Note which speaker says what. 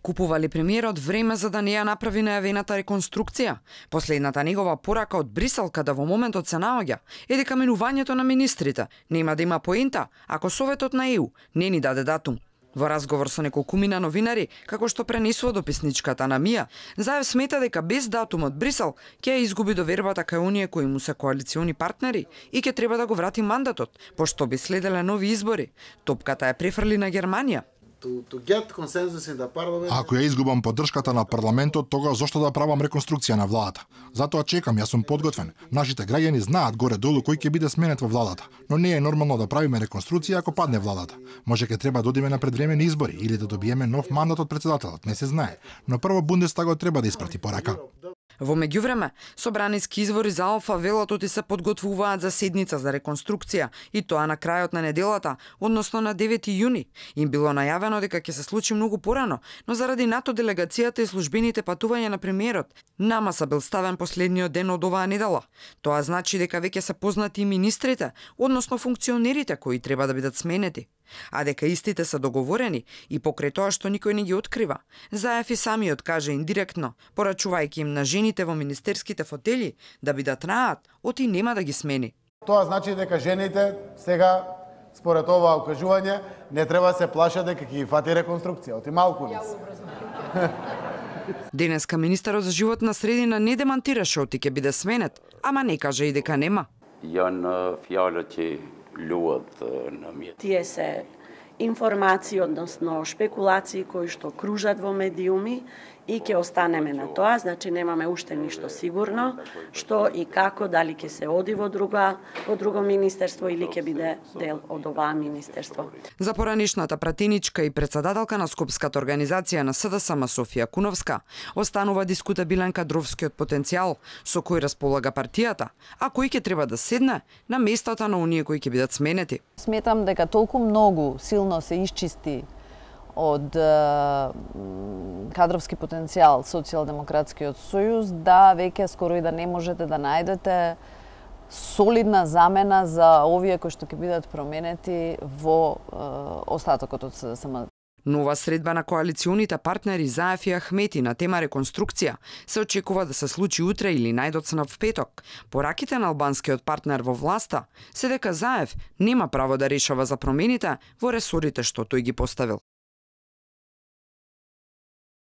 Speaker 1: Купува ли премиерот време за да не ја направи најавената реконструкција? Последната негова порака од Брисел, каде во моментот се наоѓа, е дека менувањето на министрите нема да има поента ако Советот на ЕУ не ни даде датум. Во разговор со неколкумина новинари, како што пренесува дописничката на Мија, Заев смета дека без датум од Брисел ќе ја изгуби довербата кај оние кои му се коалициони партнери и ќе треба да го врати мандатот, пошто би следеле нови избори. Топката ја префрли на Германија.
Speaker 2: Ако ја изгубам поддршката на парламентот, тогаш зошто да правам реконструкција на владата? Затоа чекам, јас сум подготвен. Нашите граѓани знаат горе-долу кој ќе биде сменет во владата, но не е нормално да правиме реконструкција ако падне владата. Може ќе треба да одиме на предвремени избори или да добиеме нов мандат од претседателот, не се знае. Но прво Бундестагот треба да испрати порака.
Speaker 1: Во меѓувреме, собраниски извори за Алфа велат оти се подготвуваат за седница за реконструкција и тоа на крајот на неделата, односно на 9 јуни. Им било најавено дека ќе се случи многу порано, но заради НАТО делегацијата и службените патувања на премиерот, намаса бил ставен последниот ден од оваа недела. Тоа значи дека веќе се познати и министрите, односно функционерите кои треба да бидат сменети. А дека истите се договорени и покрај тоа што никој не ги открива. Заев и самиот каже индиректно, порачувајќи им на жените во министерските фотели да бидат раат, оти нема да ги смени.
Speaker 3: Тоа значи дека жените сега, според ова укажување, не треба се плашат дека ќе ги фати реконструкција, оти малку не се.
Speaker 1: Денеска министерот за животна средина не демантираше оти ќе биде сменет, ама не каже и дека нема.
Speaker 4: Janë fjalët që luhet në mjet.
Speaker 5: Тие се информации, односно шпекулации кои што кружат во медиуми и ќе останеме на тоа, значи немаме уште ништо сигурно, што и како, дали ќе се оди во друго министерство или ќе биде дел од оваа министерство.
Speaker 1: За поранишната пратеничка и председателка на Скопската организација на СДСМ Софија Куновска останува дискутабилен кадровскиот потенцијал со кој располага партијата, а кој ќе треба да седне на местата на оние кои ќе бидат сменети.
Speaker 6: Сметам дека толку многу силно се исчисти од кадровски потенцијал Социјалдемократскиот сојуз, да веќе скоро и да не можете да најдете солидна замена за овие кои што ќе бидат променети во остатокот од СДСМ.
Speaker 1: Нова средба на коалиционите партнери Заев и Ахмети на тема реконструкција се очекува да се случи утре или најдоцна в петок. Пораките на албанскиот партнер во власта се дека Заев нема право да решава за промените во ресорите што тој ги поставил.